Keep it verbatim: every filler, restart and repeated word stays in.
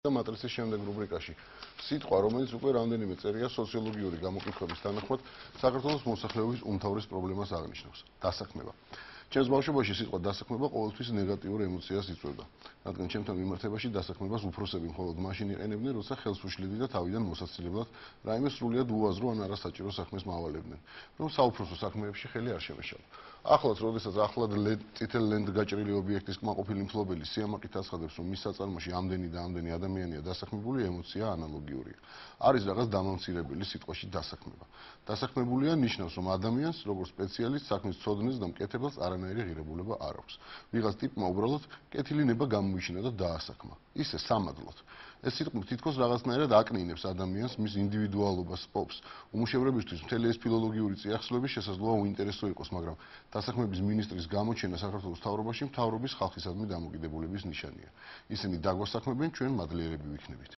და მატრიცის შემდეგ რუბრიკაში სიტყვა, რომელიც უკვე რამდენიმე წერია სოციოლოგიური გამოკითხვების თანახმად საქართველოს მოსახლეობის უმთავრეს პრობლემას აღნიშნავს დასაქმება. ჩემს ბავშვობაში სიტყვა დასაქმება ყოველთვის ნეგატიურ ემოციას იწვევდა, რადგან ჩემთან მიმართებაში დასაქმებას უფროსები მხოლოდ მაშინ იყენებდნენ, როცა ხელს უშლიდნენ და თავიდან მოსაცილებლად რაიმე სრულიად უაზრო ან არასაჭირო საქმეს მავალებდნენ, რომ საუფროსო საქმეებში ხელი არ შემეშალა. ახლაც, როდესაც ახლად წითელ ლენტ გაჭრილი ობიექტის კმაყოფილი მფლობელი სიამაყით აცხადებს, რომ მის საწარმოში ამდენი და ამდენი ადამიანია დასაქმებული, ემოცია ანალოგიურია. არის რაღაც დამამცირებელი სიტყვაში დასაქმება. დასაქმებულია ნიშნავს, რომ ადამიანს, როგორც სპეციალისტს, საქმის ცოდნას და მკეთებელს არანაირი ღირებულება არ აქვს. ვიღაც ტიპმა უბრალოდ კეთილი ნება გამოიჩინა და დაასაქმა. ისე სამადლოდ. ეს სიტყვა თითქოს რაღაცნაირად აკნინებს ადამიანს, მის ინდივიდუალობას პოპს. უმუშევრებისთვის მთელი ეს ფილოლოგიური წიაღსვლები შესაძლოა უინტერესო იყოს, მაგრამ დასაქმების მინისტრის გამოჩენა საქართველოს მთავრობაში მთავრობის ხალხისადმი დამოკიდებულების ნიშანია. ისინი დაგვასაქმებენ, ჩვენ მადლიერები ვიქნებით.